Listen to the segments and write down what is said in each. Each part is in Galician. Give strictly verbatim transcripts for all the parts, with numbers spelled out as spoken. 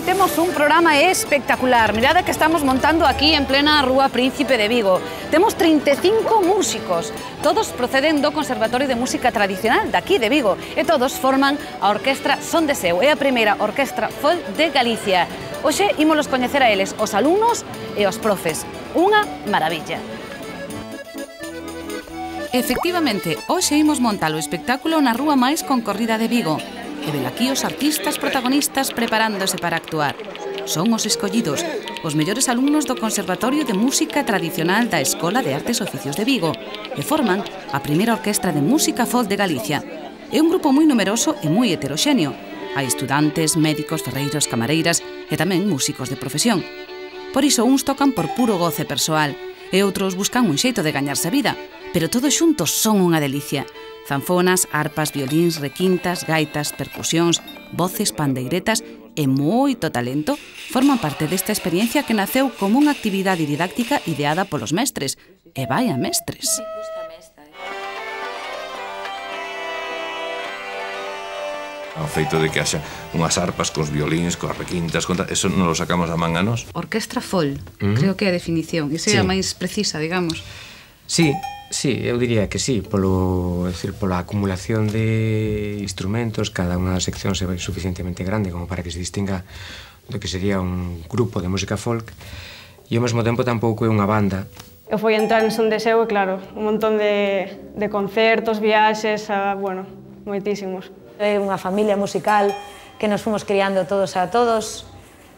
Hoxe temos un programa espectacular. Mirade que estamos montando aquí en plena Rúa Príncipe de Vigo. Temos trinta e cinco músicos. Todos proceden do Conservatorio de Música Tradicional daqui de Vigo e todos forman a Orquestra Son de Seu. É a primeira orquestra folk de Galicia. Hoxe ímolos coñecer a eles, os alumnos e os profes. Unha maravilla. Efectivamente, hoxe imos montar o espectáculo na rúa máis concorrida de Vigo. E velaquí os artistas protagonistas preparándose para actuar. Son os escollidos, os mellores alumnos do Conservatorio de Música Tradicional da Escola de Artes e Oficios de Vigo e forman a primeira orquestra de música folk de Galicia. É un grupo moi numeroso e moi heteroxéneo. Hai estudantes, médicos, ferreiros, camareiras e tamén músicos de profesión. Por iso uns tocan por puro goce persoal e outros buscan un xeito de gañarse a vida, pero todos xuntos son unha delicia. Zanfonas, arpas, violíns, requintas, gaitas, percusións, voces, pandeiretas e moito talento forman parte desta experiencia que naceu como unha actividade didáctica ideada polos mestres. E vai a mestres! O feito de que haxa unhas arpas cos violíns, coas requintas, contra... eso non lo sacamos a man a nos. Orquestra folk, uh-huh. Creo que é a definición. Esa é a máis precisa, digamos. Sí, sí, eu diría que sí, polo, é dicir, pola acumulación de instrumentos, cada unha das seccións é suficientemente grande como para que se distinga do que sería un grupo de música folk e ao mesmo tempo tampouco é unha banda. Eu fui entrar en Son de Seu e claro, un montón de, de concertos, viaxes, a, bueno, moitísimos. É unha familia musical que nos fomos criando todos a todos,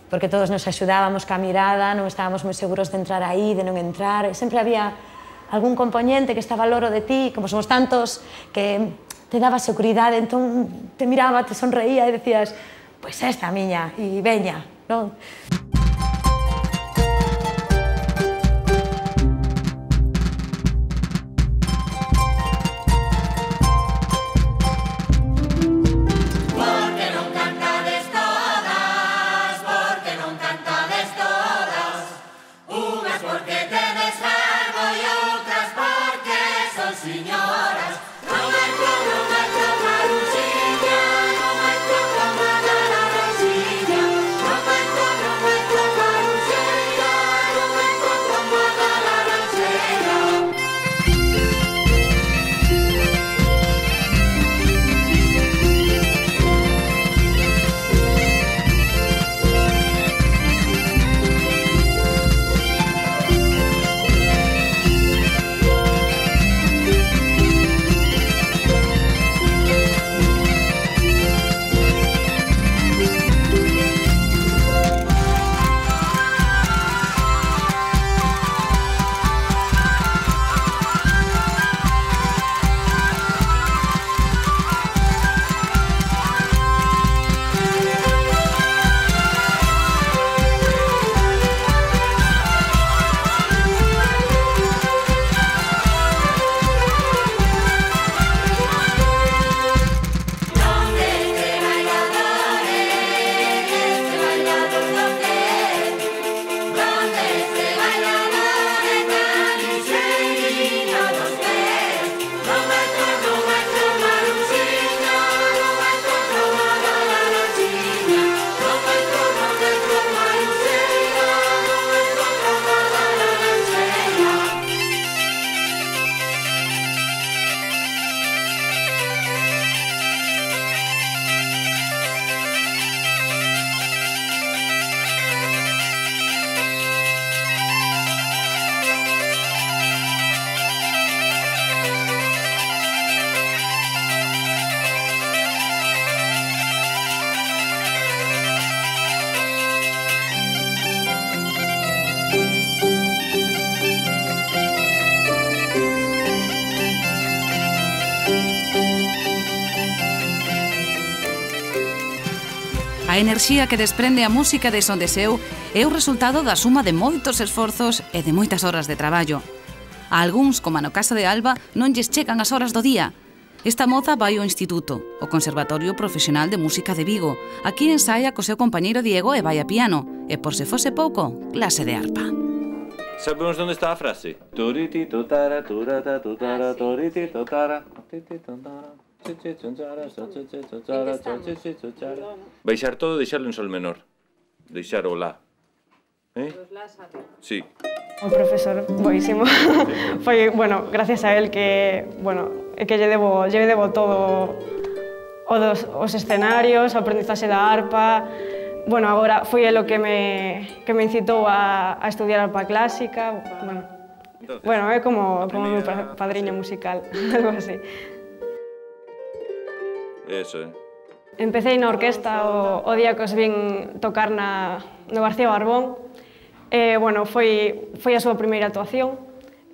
porque todos nos axudábamos ca mirada, non estábamos moi seguros de entrar aí, de non entrar, e sempre había algún componente que estaba ao loro de ti, como somos tantos, que te daba seguridade, entón te miraba, te sonreía e decías, pois esta miña, e veña, non? A enerxía que desprende a música de Son de Seu é o resultado da suma de moitos esforzos e de moitas horas de traballo. A algúns, como no caso de Alba, non lles chegan as horas do día. Esta moza vai ao instituto, o Conservatorio Profesional de Música de Vigo. Aquí ensaia co seu compañeiro Diego e vai a piano. E por se fose pouco, clase de arpa. Sabemos onde está a frase? Toriti totara, turata, tutara, toriti totara, toriti totara. Baixar todo e deixarlo en sol menor. deixar o la. Eh? Sí. O profesor, boísimo. Foi, bueno, gracias a él que, bueno, é que lle debo, lle debo todo o dos, os escenarios, o aprendizaxe da arpa. Bueno, agora foi el o que me, que me incitou a, a estudiar arpa clásica. Bueno, Entonces, bueno é como, como meu padriño musical, algo así. Eso, eh. Empecé na orquesta o, o día que os vin tocar na, no García Barbón. Eh, bueno, foi, foi a súa primeira actuación.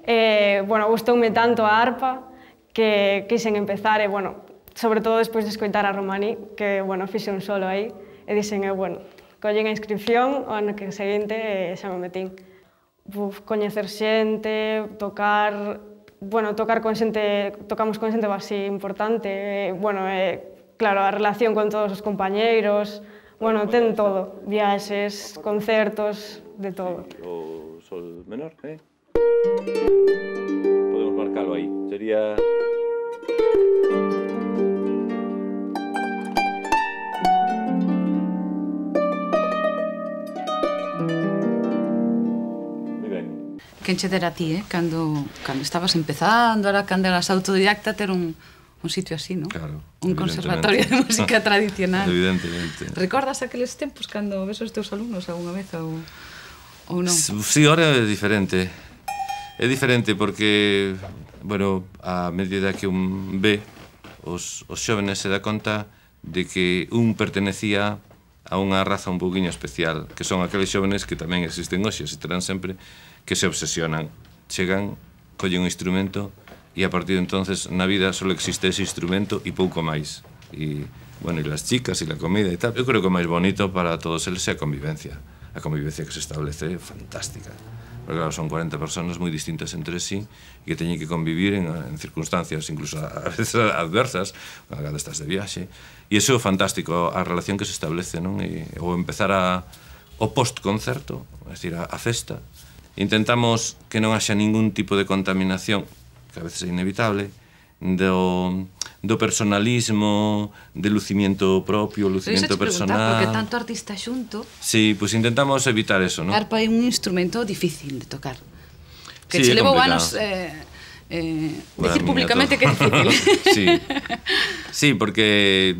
Eh, bueno, gustoume tanto a arpa que quixen empezar, e, bueno, sobre todo despois de escoitar a Romaní, que, bueno, fixe un solo aí, e dixen, eh, bueno, collín a inscripción, o ano que seguinte e xa me metín. Uf, coñecer xente, tocar, bueno, tocar con xente, tocamos con xente así importante, e, bueno, e, claro, a relación con todos os compañeiros, bueno, ten todo, viaxes, concertos, de todo. O sol menor, eh? Podemos marcalo aí, sería... Moi ben. Quen che dera a ti, eh? Cando, cando estabas empezando, ahora cando eras autodidacta, ter un, un sitio así, non? Claro. Un conservatorio de música tradicional. Evidentemente. Recordas aqueles tempos cando ves os teus alumnos algunha vez ou, ou non? Sí, ahora é diferente. É diferente porque, bueno, a medida que un ve, os, os xóvenes se dá conta de que un pertenecía a unha raza un pouquiño especial, que son aqueles xóvenes que tamén existen hoxe, e terán sempre, que se obsesionan. Chegan, collen un instrumento, e a partir de entonces na vida só existe ese instrumento e pouco máis. E, bueno, e las chicas e la comida e tal. Eu creo que o máis bonito para todos eles é a convivencia. A convivencia que se establece é fantástica. Porque, claro, son cuarenta personas moi distintas entre sí e que teñen que convivir en, en circunstancias incluso a veces adversas, cando estás de viaxe. E iso é fantástico, a relación que se establece, non? E, ou empezar a, o post-concerto, é dicir, a, a festa. Intentamos que non haxa ningún tipo de contaminación, que a veces é inevitable, do, do personalismo, de lucimiento propio, lucimiento personal. Porque tanto artista xunto... Sí, pois pues intentamos evitar eso, non? A arpa é un instrumento difícil de tocar. Que sí, che levou complicado. anos eh, eh, Bueno, decir públicamente que é difícil. Sí, sí, porque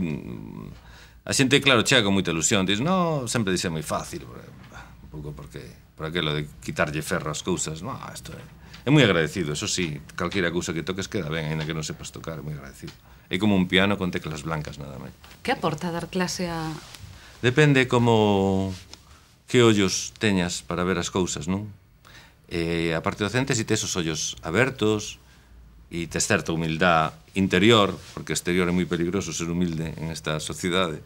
a xente, claro, chega con moita ilusión. Diz, no, sempre dixe moi fácil, un pouco porque, por aquilo de quitarlle ferro as cousas. No, isto é... É moi agradecido, eso sí, calquera cousa que toques queda ben, ainda que non sepas tocar, é moi agradecido. É como un piano con teclas blancas, nada máis. Que aporta dar clase a... Depende como... que ollos teñas para ver as cousas, non? E a parte docente, se tes os ollos abertos e tes certa humildad interior, porque exterior é moi peligroso ser humilde en esta sociedade,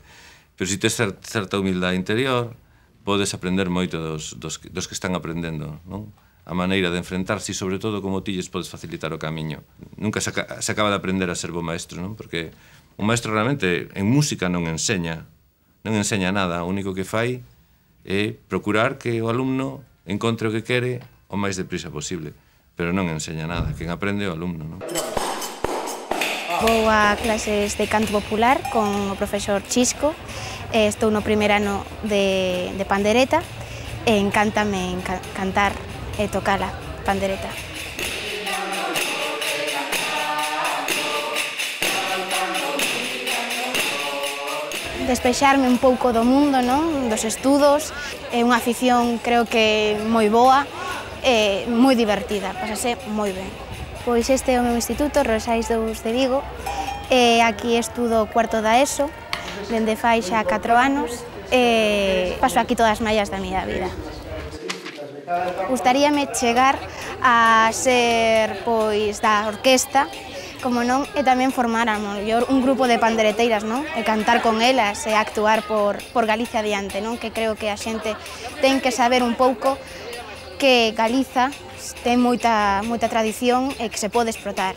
pero se tes certa humildad interior, podes aprender moito dos, dos, dos que están aprendendo, non? A maneira de enfrentarse e, sobre todo, como ti lles podes facilitar o camiño. Nunca se, se acaba de aprender a ser bo maestro, non? Porque un maestro realmente en música non enseña, non enseña nada, o único que fai é procurar que o alumno encontre o que quere o máis deprisa posible, pero non enseña nada, quen aprende é o alumno, non? Vou a clases de canto popular con o profesor Chisco, estou no primeiro ano de, de pandereta e encántame enca cantar e tocar a pandereta. Despexarme un pouco do mundo, non? Dos estudos, é unha afición creo que moi boa e moi divertida, pasase moi ben. Pois este é o meu instituto, Rosais dous de Vigo, e aquí estudo cuarto da ESO, dende fai xa catro anos, e paso aquí todas as mallas da miña vida. Gustaríame chegar a ser pois da orquesta, como non, e tamén formar a mellor un grupo de pandereteiras, non? E cantar con elas e actuar por, por Galicia adiante, non? Que creo que a xente ten que saber un pouco que Galiza ten moita, moita tradición e que se pode explotar.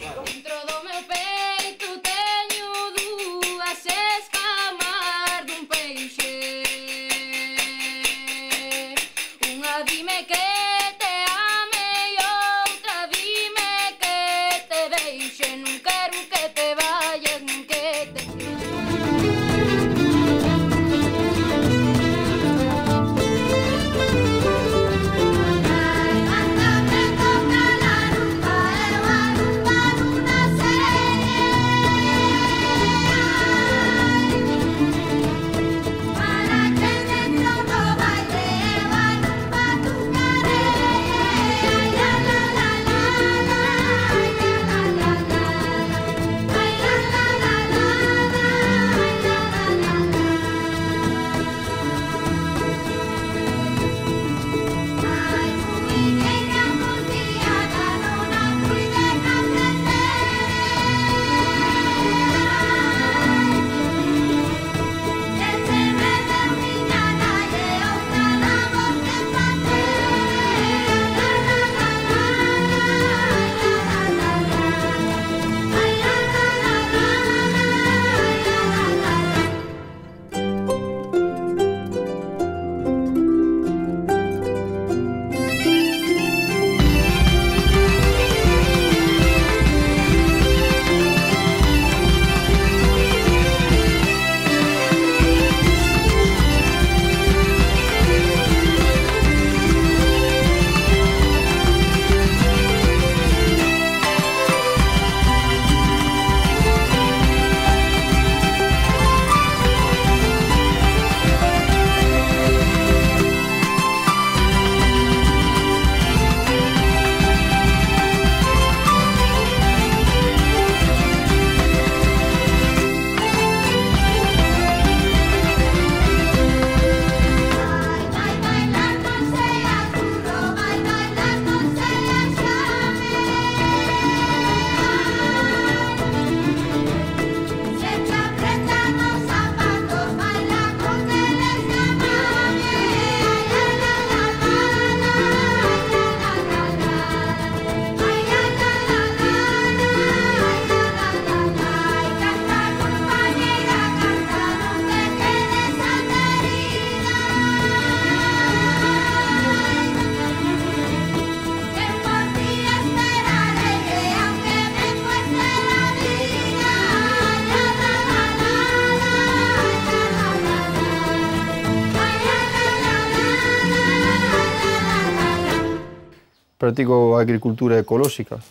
practico a agricultura ecolóxica,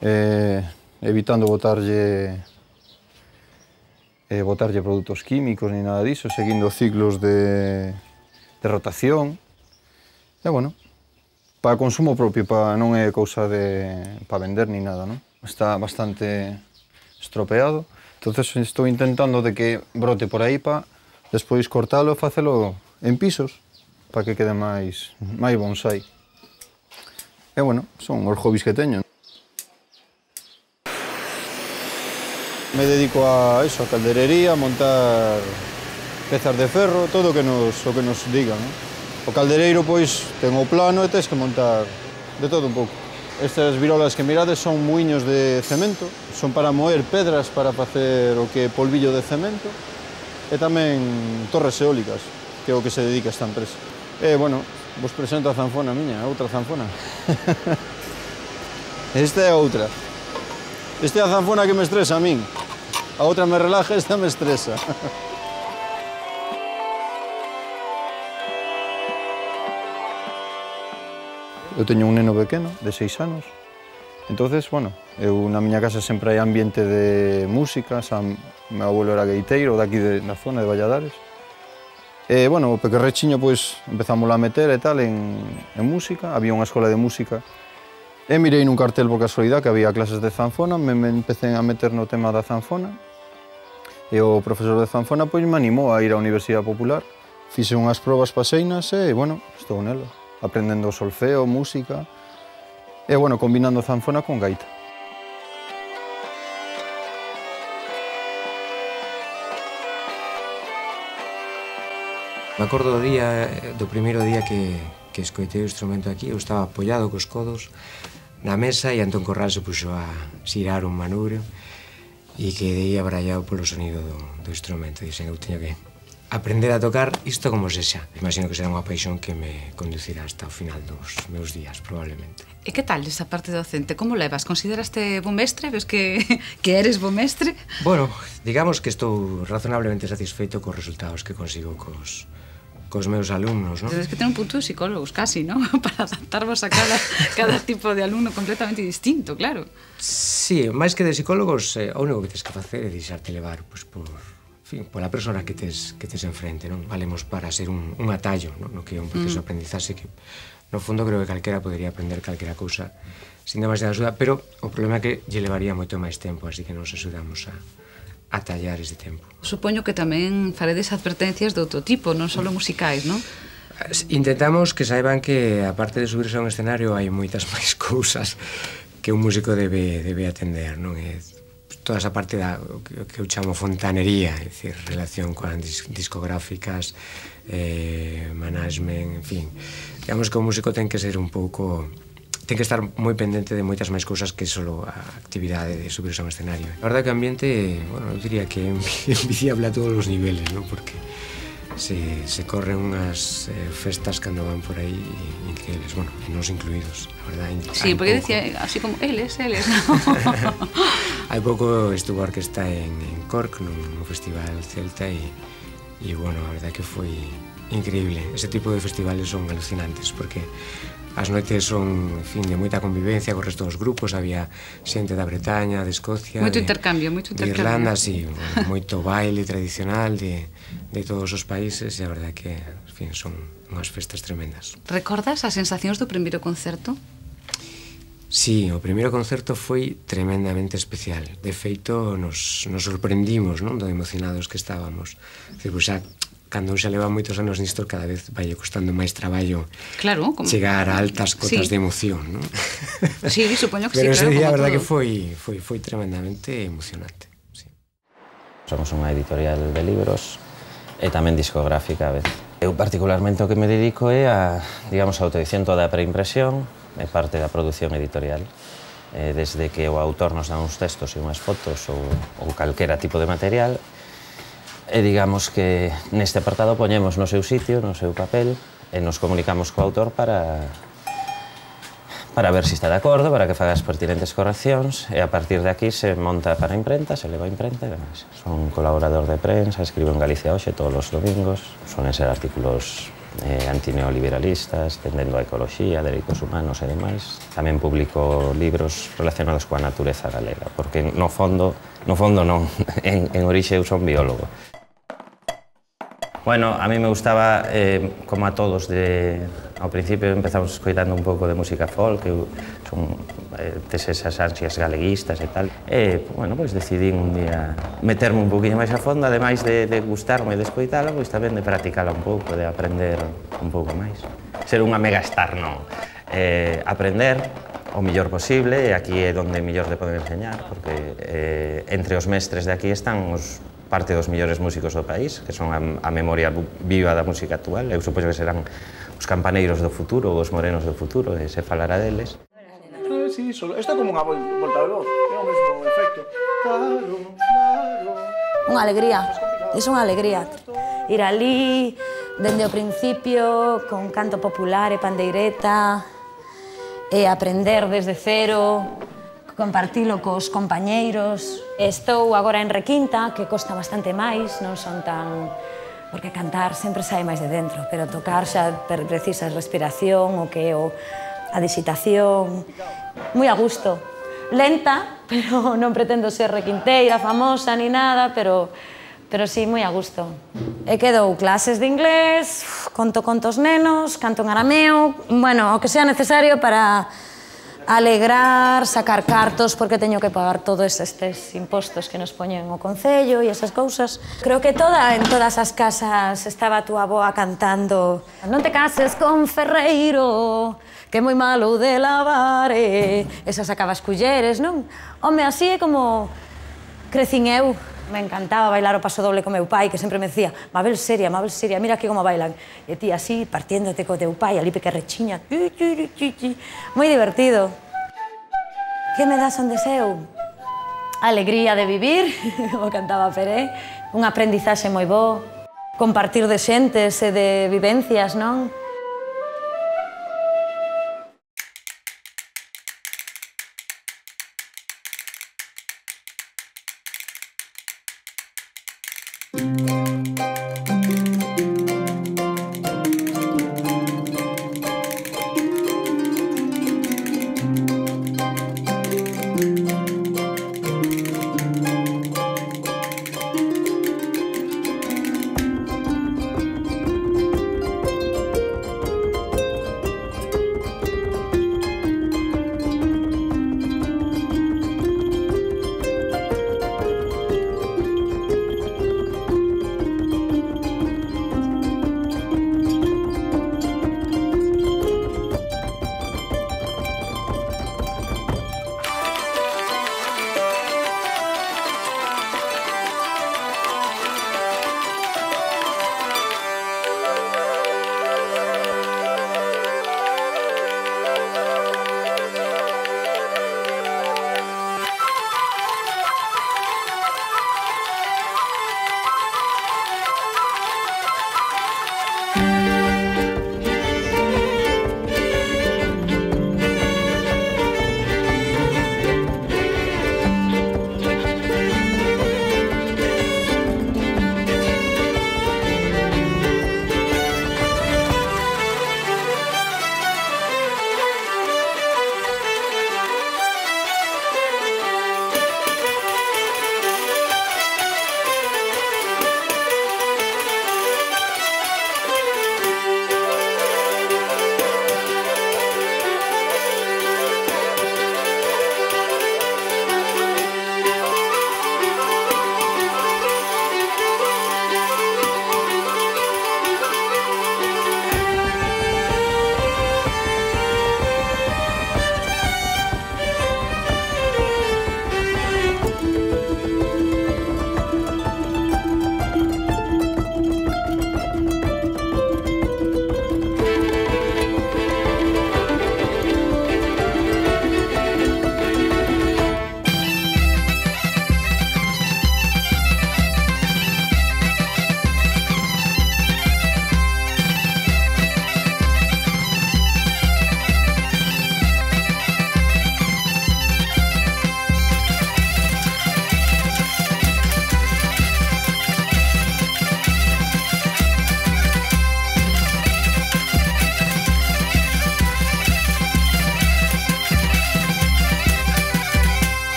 eh, evitando botarlle, eh, botarlle produtos químicos ni nada diso, seguindo ciclos de, de rotación. E, bueno, para consumo propio, para, non é cousa de, para vender ni nada, non? Está bastante estropeado, entonces estou intentando de que brote por aí para despois cortalo e facelo en pisos, para que quede máis, máis bonsai. E, bueno, son os hobbies que teño. Me dedico a eso, a calderería, a montar pezas de ferro, todo o que nos, o que nos digan, non? O caldereiro, pois, ten o plano e tens que montar de todo un pouco. Estas virolas que mirades son muiños de cemento, son para moer pedras para facer o que é polvillo de cemento, e tamén torres eólicas, que é o que se dedica a esta empresa. E, bueno, vos presento a zanfona miña, outra zanfona. Esta é outra. Esta é a zanfona que me estresa a min. A outra me relaja, esta me estresa. Eu teño un neno pequeno, de seis anos, entonces, bueno, eu na miña casa sempre hai ambiente de música, xa, meu abuelo era gaiteiro, daqui de, na zona de Valladares. E, bueno, o pequerrechiño, pois, empezamos a meter e tal en, en música, había unha escola de música, e mirei nun cartel por casualidade que había clases de zanfona, me, me empecé a meter no tema da zanfona, e o profesor de zanfona, pois, me animou a ir á Universidade Popular, fixe unhas probas paseinas e, bueno, estou nela, aprendendo solfeo, música, e, bueno, combinando zanfona con gaita. Me acordo do día, do primeiro día que, que escoitei o instrumento aquí, eu estaba apoiado cos codos na mesa e Antón Corral se puxo a xirar un manubrio e quedei abrallado polo sonido do, do instrumento. Dixen, eu teño que aprender a tocar isto como sexa. Imagino que será unha paixón que me conducirá hasta o final dos meus días, probablemente. E que tal esa parte docente? Como levas? Consideraste bo mestre? Ves que, que eres bo mestre? Bueno, digamos que estou razonablemente satisfeito cos resultados que consigo cos, cos meus alumnos, non? Tens que ter un punto de psicólogos, casi, non? Para adaptarvos a cada, cada tipo de alumno completamente distinto, claro. Sí, máis que de psicólogos, eh, o único que tens que facer é deixarte levar, pois, por... En fin, pola persona que tes, que tes enfrente, non? Valemos para ser un, un atallo, non? No que é un proceso mm. de aprendizaxe que, no fondo, creo que calquera podería aprender calquera cousa sin demasiada axuda, pero o problema é que lle levaría moito máis tempo, así que nos axudamos a, a tallar ese tempo. Supoño que tamén faredes advertencias de outro tipo, non só musicais, non? Intentamos que saiban que, aparte de subirse a un escenario, hai moitas máis cousas que un músico debe, debe atender, non? É toda esa parte da que eu chamo fontanería, é dicir, relación con dis, discográficas, eh, management, en fin. Digamos que o músico ten que ser un pouco... ten que estar moi pendente de moitas máis cousas que só a actividade de subirse a un escenario. A verdade que o ambiente, bueno, eu diría que é enviciable a todos os niveles, non? Porque se, se corren unhas eh, festas cando van por aí increíbles, bueno, e nos incluídos, a verdade. Sí, porque decía así como eles, eles, non? Hai pouco estuvo a orquesta en, en Cork, no, no Festival Celta, e, e, bueno, a verdade que foi increíble. Ese tipo de festivales son alucinantes, porque as noites son, en fin, de moita convivencia co resto dos grupos, había xente da Bretaña, de Escocia, moito de, intercambio, moito intercambio. De Irlanda, sí, bueno, moito baile tradicional de, de todos os países, e a verdade que, en fin, son unhas festas tremendas. Recordas as sensacións do primeiro concerto? Sí, o primeiro concerto foi tremendamente especial. De feito, nos, nos sorprendimos, non? Do emocionados que estábamos. Decir, pues, xa, cando xa leva moitos anos nisto, cada vez vai costando máis traballo, claro, como... chegar a altas cotas sí. de emoción, non? Sí, supoño que Pero sí, claro. Pero ese día, a verdade, todo. que foi, foi, foi tremendamente emocionante. Sí. Somos unha editorial de libros e tamén discográfica a vez. Eu particularmente o que me dedico é a, digamos, a autoedición toda a preimpresión, é parte da produción editorial. Eh, desde que o autor nos dá uns textos e unhas fotos ou, ou calquera tipo de material, e digamos que neste apartado poñemos no seu sitio, no seu papel, e nos comunicamos co autor para para ver se está de acordo, para que faga as pertinentes correccións, e a partir de aquí se monta para a imprenta, se leva a imprenta e demais. Son colaborador de prensa, escribo en Galicia Hoxe todos os domingos, suelen ser artículos eh, antineoliberalistas, tendendo a ecoloxía, dereitos humanos e demais. Tamén publico libros relacionados coa natureza galega, porque no fondo, no fondo non, en, en orixe eu son biólogo. Bueno, a mí me gustaba, eh, como a todos, de, ao principio empezamos escoitando un pouco de música folk, eu son, eh, tes esas ansias galeguistas e tal. E, bueno, pois decidín un día meterme un poquinho máis a fondo, ademais de, de gustarme de escoitala, pois tamén de practicala un pouco, de aprender un pouco máis. Ser unha megastar, non. Eh, aprender o mellor posible, e aquí é onde mellor te poden enseñar, porque eh, entre os mestres de aquí están os parte dos mellores músicos do país, que son a, a memoria viva da música actual. Eu supoño que serán os campaneiros do futuro, os morenos do futuro, e se falará deles. Sí, solo. Esta é como unha volta de voz, é o mesmo efecto. Claro, claro. Unha alegría, é unha alegría. Ir ali, dende o principio, con canto popular e pandeireta, e aprender desde cero, compartilo cos compañeiros. Estou agora en requinta, que costa bastante máis, non son tan... Porque cantar sempre sai máis de dentro, pero tocar xa precisas respiración, o que é o... a disitación, moi a gusto. Lenta, pero non pretendo ser requinteira, famosa, ni nada, pero, pero sí, moi a gusto. E que dou clases de inglés, conto contos nenos, canto en arameo, bueno, o que sea necesario para alegrar, sacar cartos, porque teño que pagar todos estes impostos que nos poñen o Concello e esas cousas. Creo que toda, en todas as casas estaba a túa avoa cantando non te cases con Ferreiro, que é moi malo de lavar, e esas sacaba as culleres, non? Home, así é como crecín eu. Me encantaba bailar o paso doble con meu pai, que sempre me decía Mabel seria, Mabel seria, mira aquí como bailan. E ti así, partiéndote co teu pai, ali que rechiña. Moi divertido. Que me das onde seu? Alegría de vivir, como cantaba Peré, un aprendizaxe moi bo, compartir de xentes e de vivencias, non?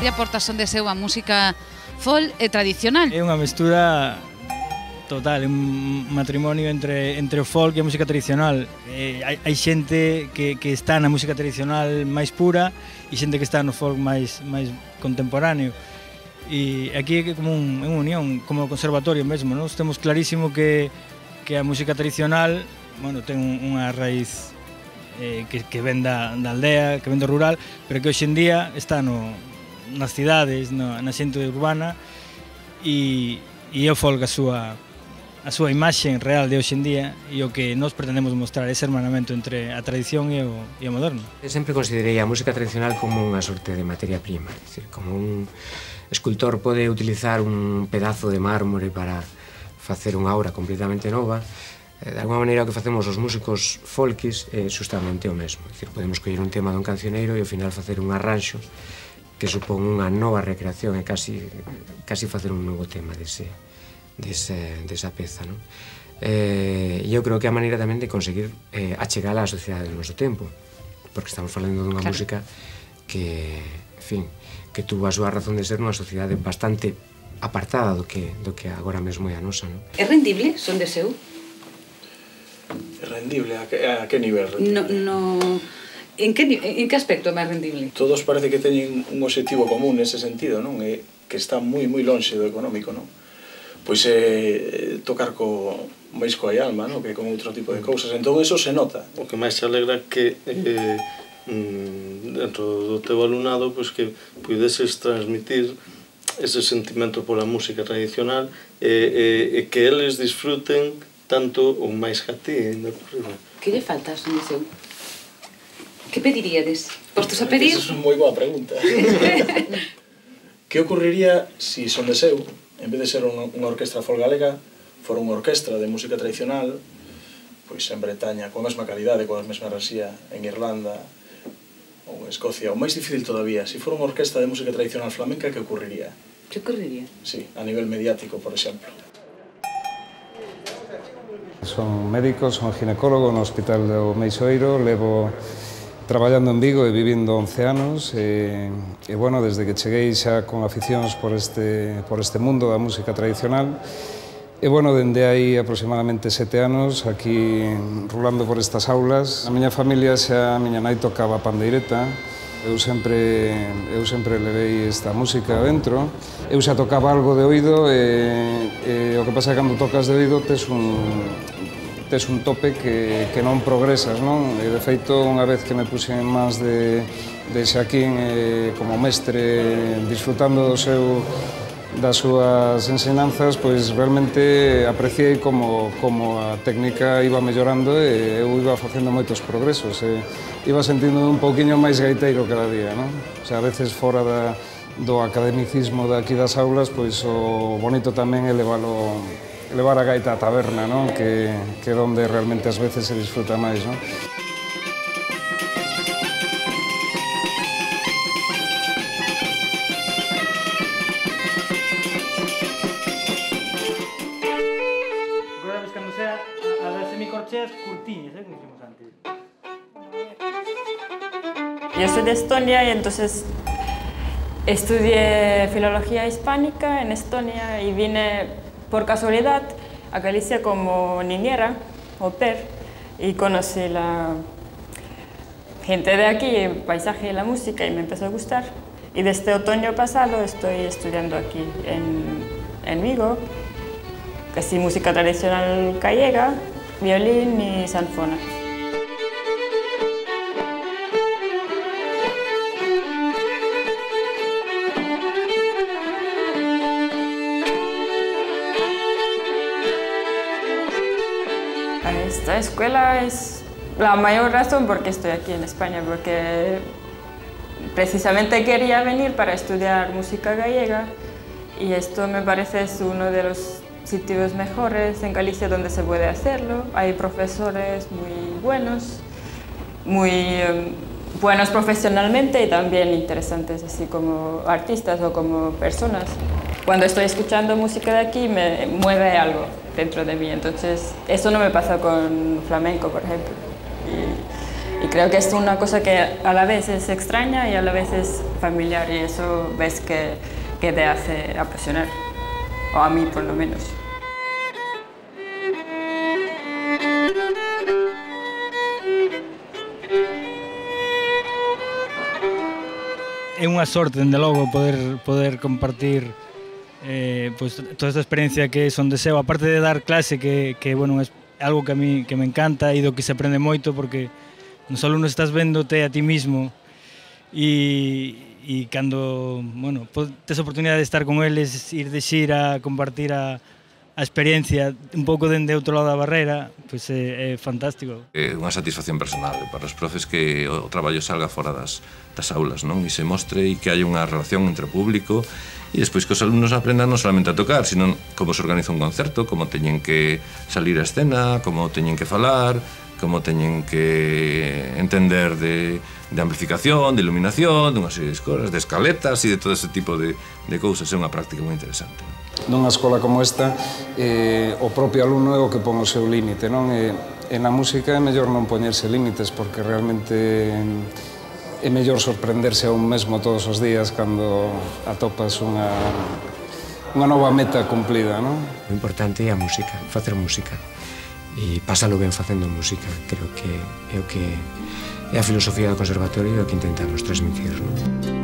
ti aportas onde seu a música folk e tradicional? É unha mestura total, é un matrimonio entre, entre o folk e a música tradicional. Eh, hai, hai xente que, que está na música tradicional máis pura e xente que está no folk máis, máis contemporáneo. E aquí é como un, unha unión, como o conservatorio mesmo, nos temos clarísimo que, que a música tradicional, bueno, ten unha raíz eh, que, que ven da, da aldea, que ven do rural, pero que hoxe en día está no, nas cidades, no, na xente urbana, e, e é o folk a súa, a súa imaxe real de hoxe en día, e o que nós pretendemos mostrar ese hermanamento entre a tradición e o, e o moderno. Eu sempre considerei a música tradicional como unha sorte de materia prima, é dicir, como un escultor pode utilizar un pedazo de mármore para facer unha obra completamente nova. De alguma maneira o que facemos os músicos folkis é justamente o mesmo. É dicir, podemos coller un tema dun cancioneiro e ao final facer un arranxo que supón unha nova recreación e casi, casi facer un novo tema dese, dese, desa peza. Non? Eh, eu creo que é a maneira tamén de conseguir eh, achegar á sociedade do noso tempo, porque estamos falando dunha claro. música que, en fin, que tuvo a súa razón de ser nunha sociedade bastante apartada do que, do que agora mesmo é a nosa. Non? É rendible, son de seu? É rendible? A que, a que nivel rendible? No, no... En, que, en que aspecto é máis rendible? Todos parece que teñen un objetivo común nese sentido, non? É que está moi, moi lonxe do económico, non? Pois é tocar co máis coa alma, non? Que con outro tipo de cousas. Entón, eso se nota. O que máis se alegra que eh, dentro do teu alumnado pois que puideses transmitir ese sentimento pola música tradicional e, e, e que eles disfruten tanto ou máis que a ti, ainda ocurrido. Que lle falta, son de seu? Que pediríades? Postos a pedir? Esa é unha moi boa pregunta. Que ocurriría se son de seu, en vez de ser unha, unha orquestra folk galega, fora unha orquestra de música tradicional, pois en Bretaña, coa mesma calidade, coa mesma rasía, en Irlanda ou en Escocia, ou máis difícil todavía, se fora unha orquestra de música tradicional flamenca, que ocurriría? Que ocurriría? Sí, a nivel mediático, por exemplo. Son médico, son ginecólogo no Hospital do Meixoeiro, levo traballando en Vigo e vivindo once anos e, e bueno, desde que cheguei xa con aficións por este, por este mundo da música tradicional e bueno, dende aí aproximadamente sete anos aquí rulando por estas aulas. A miña familia xa, a miña nai tocaba pandeireta, eu sempre, eu sempre levei esta música dentro. Eu xa tocaba algo de oído e, e o que pasa é que cando tocas de oído tes un, tes un tope que, que non progresas, non? E de feito, unha vez que me puxen en mans de, de Xaquín eh, como mestre, disfrutando do seu, das súas ensinanzas, pois realmente apreciei como, como a técnica iba mellorando e eu iba facendo moitos progresos. E iba sentindo un pouquiño máis gaiteiro cada día, non? O sea, a veces fora da, do academicismo de aquí das aulas, pois o bonito tamén é levalo, levar a gaita á taberna, non? Que, que é onde realmente ás veces se disfruta máis, non? Recordades cando sea a das semicorcheas curtiñas, eh, como hicimos antes. Yo soy de Estonia y entonces estudié filología hispánica en Estonia y vine por casualidad a Galicia como niñera, au pair, y conocí la gente de aquí, el paisaje y la música, y me empezó a gustar. Y desde otoño pasado estoy estudiando aquí en, en Vigo, casi música tradicional gallega, violín y sanfona. Esta escuela es la mayor razón por qué estoy aquí en España, porque precisamente quería venir para estudiar música gallega y esto me parece es uno de los sitios mejores en Galicia donde se puede hacerlo. Hay profesores muy buenos, muy eh, buenos profesionalmente y también interesantes así como artistas o como personas. Cuando estoy escuchando música de aquí me mueve algo dentro de mí, entonces eso no me pasa con flamenco, por ejemplo. Y, y creo que es una cosa que a la vez es extraña y a la vez es familiar, y eso ves que, que te hace apasionar, o a mí por lo menos. É unha sorte, dende logo, poder, poder compartir eh, pues, toda esta experiencia que son de SEO, aparte de dar clase, que, que bueno, é algo que a mí que me encanta e do que se aprende moito, porque non só alumnos estás véndote a ti mismo e, e cando, bueno, tes a oportunidade de estar con eles, ir de xira, compartir a, a experiencia un pouco dende outro lado da barreira, pois é, é fantástico. É unha satisfacción personal para os profes que o traballo salga fora das, das aulas, non? E se mostre e que hai unha relación entre o público e despois que os alumnos aprendan non solamente a tocar, sino como se organiza un concerto, como teñen que salir a escena, como teñen que falar, como teñen que entender de, de amplificación, de iluminación, de unha serie de cosas, de escaletas e de todo ese tipo de, de cousas. É unha práctica moi interesante. Nunha escola como esta, eh, o propio alumno é o que pon o seu límite, non? E, e na música é mellor non poñerse límites, porque realmente é mellor sorprenderse a un mesmo todos os días cando atopas unha, unha nova meta cumplida, non? O importante é a música, facer música. E pásalo ben facendo música. Creo que é o que é a filosofía do conservatorio e o que intentamos transmitir, non?